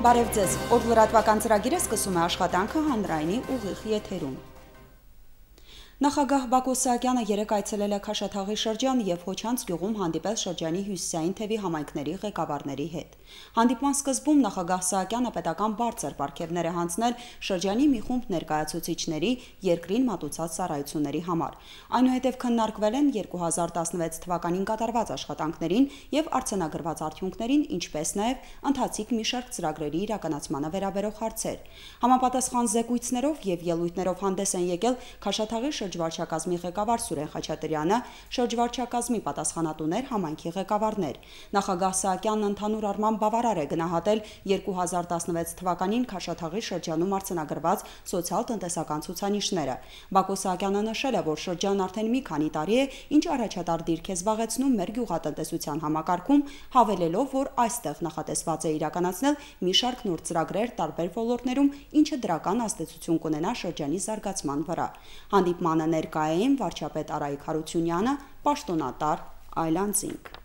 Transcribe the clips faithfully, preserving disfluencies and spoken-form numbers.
Բարև ձեզ, օր լրատվական ծրագիրը սկսում է աշխատանքը հանրայինի ուղիղ եթերում։ Նախագահ Բակո Սահակյանը երեկ այցելել է Քաշաթաղի շրջան եւ Հոչանց գյուղում հանդիպել շրջանի հյուսիսային թևի համայնքների ղեկավարների հետ։ Հանդիպման սկզբում նախագահ Սահակյանը պետական բարձր պարգևներ է հանձնել շրջանի մի խումբ ներկայացուցիչների երկրին մատուցած ծառայությունների համար։ Այնուհետև քննարկվել են երկու հազար տասնվեց թվականին կատարված աշխատանքներին եւ արձանագրված արդյունքներին, ինչպես նաեւ ընթացիկ մի շարք ծրագրերի իրականացմանը վերաբերող հարցեր։ Համապատասխան զեկույցներով եւ ելույթներով հանդես են եկել Քաշաթաղի շրջվարչակազմի ղեկավար Սուրեն Խաչատրյանը, շրջվարչակազմի պատասխանատուներ, համայնքի ղեկավարներ։ Նախագահ Սահակյանն ընդհանուր առմամբ բավարար է գնահատել երկու հազար տասնվեց թվականին Քաշաթաղի շրջանում արձանագրված սոցիալ-տնտեսական ցուցանիշները։ Բակո Սահակյանը նշել է, որ շրջանն արդեն մի քանի տարի է, ինչ առաջատար դիրք է զբաղեցնում մեր գյուղատնտեսության համակարգում, հավելելով, որ այստեղ նախատեսված է իրականացնել մի շարք նոր ծրագրեր տարբեր ոլորտներում, ինչը դրական ազդեցություն կունենա շրջանի զարգացման վրա։ Հանդիպմանը ներկա էին վարչապետ Արայիկ Հարությունյանը, պաշտոնատար Այլանդզինգ։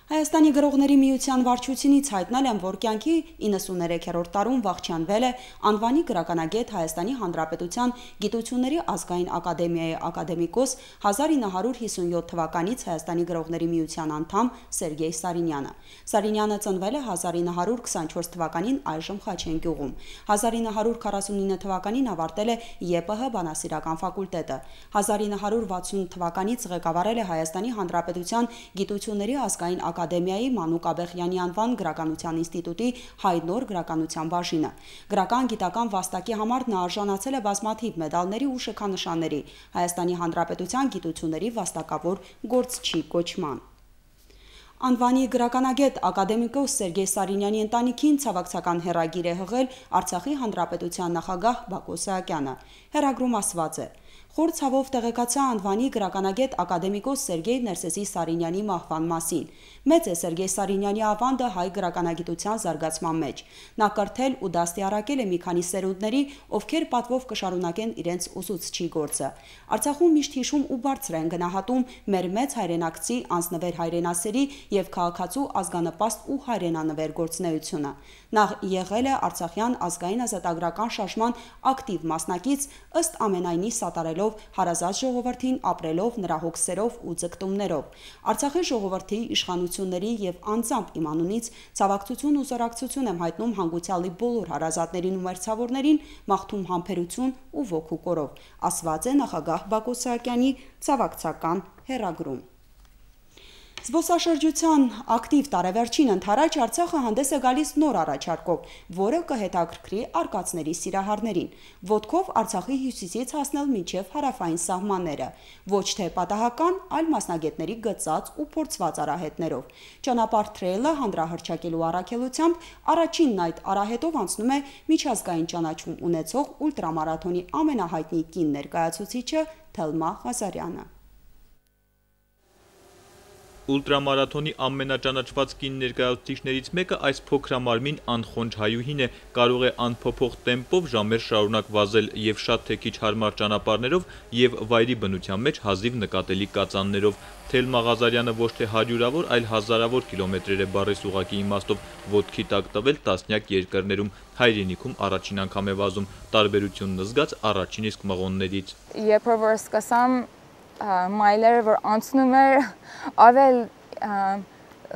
Հայաստանի գրողների միության վարչությունից հայտնել են, որ կյանքի իննսուններեքերորդ տարում վախճանվել է անվանի գրականագետ Հայաստանի Հանրապետության Գիտությունների ազգային ակադեմիայի ակադեմիկոս հազար ինը հարյուր հիսունյոթ թվականից Հայաստանի գրողների միության անդամ Սերգեյ Սարինյանը։ Սարինյանը ծնվել է հազար ինը հարյուր քսանչորս թվականին այժմ Խաչեն գյուղում։ հազար ինը հարյուր քառասունինը թվականին ավարտել է Ե Պ Հ բանասիրական ֆակուլտետը։ հազար ինը հարյուր վաթսուն թվականից ղեկավարել է Հայաստանի Հանրապետության Գիտությունների ազգային ակադեմիայի Մանուկ Աբեղյանի անվան գրականության ինստիտուտի հայնոր գրականության բաժինը։ Գրական գիտական վաստակի համար նա արժանացել է բազմաթիվ մեդալների ու շքանշանների, Հայաստանի Հանրապետության գիտությունների վաստակավոր գործչի կոչման։ Անվանի գրականագետ ակադեմիկոս Սերգեյ Սարինյանի ընտանիքին ցավակցական հեռագիր է հղել Արցախի Հանրապետության նախագահ Բակո Սահակյանը։ Հեռագրում ասված է. Խոր ցավով տեղեկացա անվանի գրականագետ ակադեմիկոս Սերգեյ Ներսեսի Սարինյանի մահվան մասին։ Մեծ է Սերգեյ Սարինյանի ավանդը հայ գրականագիտության զարգացման մեջ։ Նա կրթել ու դաստիարակել է մի քանի սերունդների, ովքեր պատվով կշարունակեն իրենց ուսուցչի գործը։ Արցախում միշտ հիշում ու բարձր են գնահատում մեր մեծ հայրենակցի անձնվեր հայրենասերի եւ քաղաքացու ազգանպաստ ու հայրենանվեր գործունեությունը։ Նա եղել է Արցախյան ազգային ազատագրական շարժման ակտիվ մասնակից, ըստ ամենայնի սատարելով հարազատ ժողովրդին, ապրելով նրա հոգսերով ու ձգտումներով։ Արցախի ժողովրդի իշխանությունների եւ անձամբ իմ անունից ցավակցություն ու զորակցություն եմ հայտնում հանգուցյալի բոլոր հարազատներին ու մերձավորներին, մաղթում համբերություն ու ոգու կորով, ասված է նախագահ Բակո Սահակյանի ցավակցական հեռագրում։ Զբոսաշրջության ակտիվ տարեվերջին ընթരാճ Արցախը հանդես է գալիս նոր առաջարկով, որը կհետաքրքրի արկածների սիրահարներին։ Ոտքով Արցախի հյուսիսից հասնել մինչև հարավային սահմանները, ոչ թե պատահական, այլ մասնագետների գծած ու փորձված արահետներով։ Ճանապարհ թրեյլը հանրահռչակելու առաքելությամբ առաջինն այդ արահետով անցնում է միջազգային ճանաչում ունեցող ուլտրամարաթոնի ամենահայտնի կին ներկայացուցիչը Թելմա Ղազարյանը։ Ուլտրամարաթոնի ամենաճանաչված կին ներկայացուցիչներից մեկը այս փոքրամարմին անխոնջ հայուհին է, կարող է անփոփոխ տեմպով ժամեր շարունակ վազել եւ շատ թե քիչ հարմար ճանապարհներով եւ վայրի բնության մեջ հազիվ նկատելի կածաններով։ Թելմա Ղազարյանը ոչ թե հարյուրավոր, այլ հազարավոր կիլոմետրեր է բառիս ուղղակի իմաստով ոտքի տակ տվել տասնյակ երկրներում, հայրենիքում առաջին անգամ է վազում, տարբերությունն զգաց առաջին իսկ մղոններից։ Երբ որ սկսամ մայլերը որ անցնում էր, ավել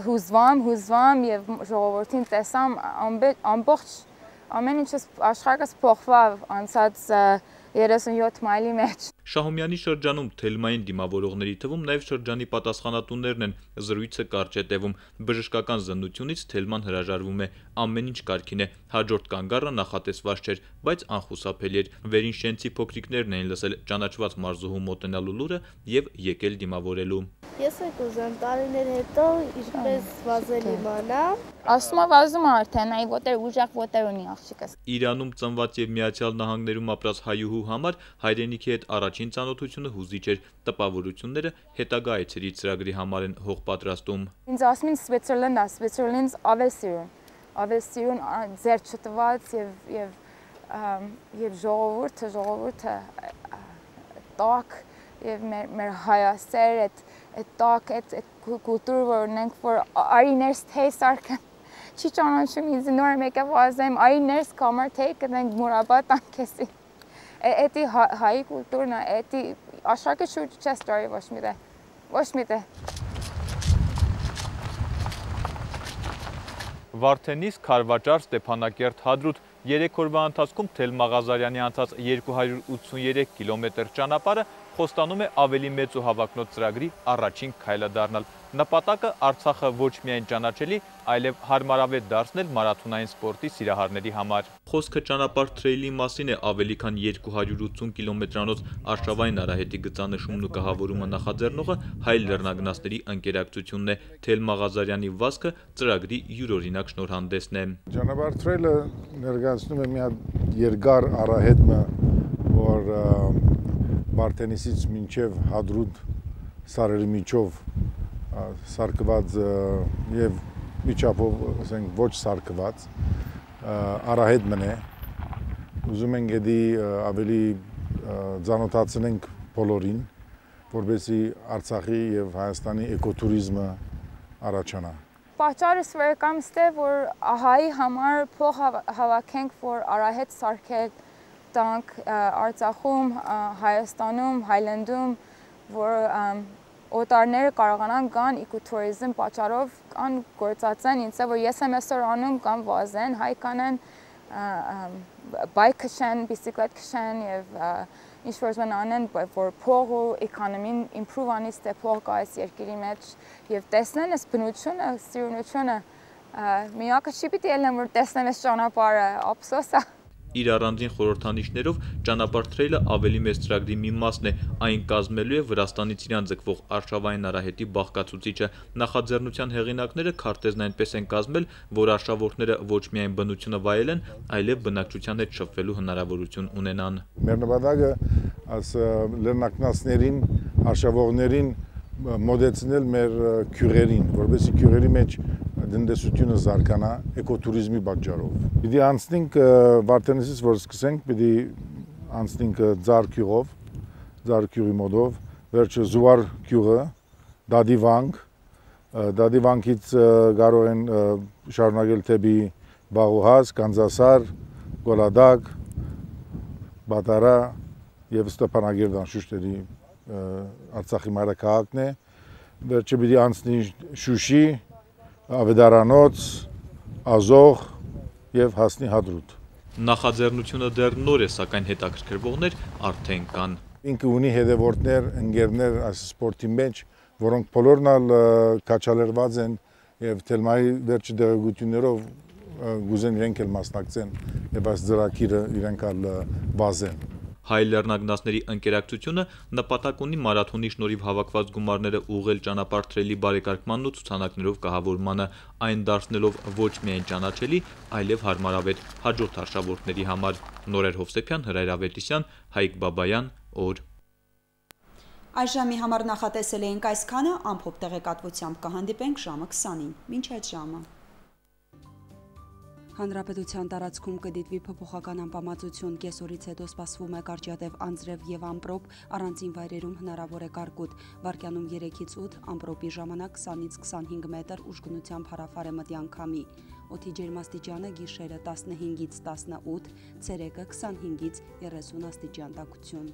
հուզվամ, հուզվամ եւ ժողովրդին տեսամ ամբողջ ամեն ինչս աշխարհս փոխվավ անցած երեսունյոթ մայլի մեջ։ Շահումյանի շրջանում Թելմային դիմավորողների թվում նաև շրջանի պատասխանատուներն են, զրույցը կարճ է տևում, բժշկական զննությունից Թելման հրաժարվում է, ամեն ինչ կարգին է, հաջորդ կանգառը նախատեսված չէր, բայց անխուսափելի էր, վերին շենցի փոքրիկներն էին լսել ճանաչված մարզուհու մոտենալու լուրը եւ եկել դիմավորելու։ Ես եք ուզեմ տարիներ հետո ինչպես վազել իմանամ։ Ասում եմ վազում արդեն, այ ոտեր ուժեղ ոտեր ունի աղջիկս։ Իրանում ծնված եւ Միացյալ Նահանգներում ապրած հայուհու համար հայրենիքի հետ առաջին ծանոթությունը հուզիչ էր, տպավորությունները հետագա այցերի ծրագրի համար են հող պատրաստում։ Ինձ ասում են Switzerland, Switzerland-ից ավել սիրուն։ ավելի սիրուն ձեր չտված եւ եւ եւ ժողովուրդը ժողովուրդը տակ եւ մեր մեր հայասեր այդ այդ տակ այդ կուլտուր որ ունենք որ արիներս թեյսարքը չի ճանաչում ինձ նոր մեկը վազեմ արիներս կամար թեյ կնենք մուրաբա տանքեսի էդի հայ կուլտուրն է էդի աշխարհի շուրջ չես տարի ոչ մի դե ոչ մի դե Վարդենիս, Քարվաճար, Ստեփանակերտ, Հադրութ երեք օրվա ընթացքում Թելմա Ղազարյանի անցած երկու հարյուր ութսուներեք կիլոմետր ճանապարհը խոստանում է ավելի մեծ ու հավակնոտ ծրագրի առաջին քայլը դառնալ։ Նպատակը Արցախը ոչ միայն ճանաչելի, այլև հարմարավետ դարձնել մարաթոնային սպորտի սիրահարների համար։ Խոսքը ճանապարհ թրեյլի մասին է ավելի քան երկու հարյուր ութսուն կիլոմետրանոց արշավային արահետի գծանշումն ու կահավորումը նախաձեռնողը հայ լեռնագնացների ընկերակցությունն է։ Թելմա Ղազարյանի վազքը ծրագրի յուրօրինակ շնորհանդեսն է։ Ճանապարհ թրեյլը ներկայացնում է մի հատ երկար արահետ, որ Վարդենիսից մինչև Հադրութ սարերի միջով սարկված եւ միջապով, ասենք, ոչ սարկված արահետ մնե։ Ուզում ենք դի ավելի ծանոթացնենք բոլորին, որովհետեւ Արցախի եւ Հայաստանի էկոտուրիզմը առաջանա։ Պատճառը սովորական է, որ հայ համար փող հավաքենք, որ արահետ սարքել տանք Արցախում, Հայաստանում, Հայլանդում, որ օտարները կարողանան գան էկոտուրիզմ պատճառով կան գործածեն, ինձ է որ ես եմ այսօր անում կամ վազեն, հայ կանեն բայկ քշեն, բիսիկլետ քշեն եւ ինչ-որ բան անեն, որ փող ու էկոնոմին improve անի, ստե փող կա այս երկրի մեջ եւ տեսնեն այս բնությունը, սիրունությունը, միակը չի պիտի ելնեմ, որ տեսնեմ այս ճանապարհը, ափսոս է։ Իր առանձին խորհրդանիշներով ճանապարհ թրեյլը ավելի մեծ ծրագրի մի մասն է, այն կազմելու է Վրաստանից իրան ձգվող արշավային արահետի բաղկացուցիչը։ Նախաձեռնության հեղինակները քարտեզն այնպես են կազմել, որ արշավորդները ոչ միայն բնությունը վայելեն, այլև բնակչության հետ շփվելու հնարավորություն ունենան։ Մեր նպատակը այս լեռնագնացներին, արշավողներին մոդեցնել մեր քյուրերին, որովհետեւ քյուրերի մեջ դնդեսությունը զարգանա էկոտուրիզմի պատճառով։ Պիտի անցնենք Վարդենիսից, որ սկսենք, պիտի անցնենք Ձար գյուղով, Ձար գյուղի մոդով, վերջը Զուար գյուղը, Դադի վանք, Դադի վանքից կարող են շարունակել թեպի Բաղուհաս, Կանզասար, Գոլադակ, Բատարա եւ Ստեփանագերտ անշուշտերի Արցախի մայրաքաղաքն է, վերջը պիտի անցնի Շուշի, Ավետարանոց, Ազող եւ հասնի Հադրութ։ Նախաձեռնությունը դեռ նոր է, սակայն հետաքրքրվողներ արդեն կան։ Ինքը ունի հետևորդներ, ընկերներ այս սպորտի մեջ, որոնք բոլորն քաչալերված են եւ Թելմայի վերջի դեղեցություններով գուզեն իրենք էլ մասնակցեն եւ այս ծրագիրը իրենք ալ բազեն։ Հայ լեռնագնացների ընկերակցությունը նպատակ ունի մարաթոնի շնորհիվ հավաքված գումարները ուղղել ճանապարհ թրեյլի բարեկարգմանն ու ցուցանակներով կահավորմանը, այն դարձնելով ոչ միայն ճանաչելի, այլև հարմարավետ հաջորդ արշավորդների համար։ Նորեր Հովսեփյան, Հրայր Ավետիսյան, Հայկ Բաբայան, օր։ Այս ժամի համար նախատեսել էինք այսքանը, ամփոփ տեղեկատվությամբ կհանդիպենք ժամը քսանին։ Մինչ այդ ժամը։ Հանրապետության տարածքում կդիտվի փոփոխական անպամացություն, կեսօրից հետո սպասվում է կարճատև անձրև եւ ամպրոպ, առանձին վայրերում հնարավոր է կարկուտ, վարկյանում երեքից ութ, ամպրոպի ժամանակ քսանից քսանհինգ մետր ուժգնությամբ հարավարեմտյան քամի, օդի ջերմաստիճանը գիշերը տասնհինգից տասնութ, ցերեկը քսանհինգից երեսուն աստիճան տաքություն։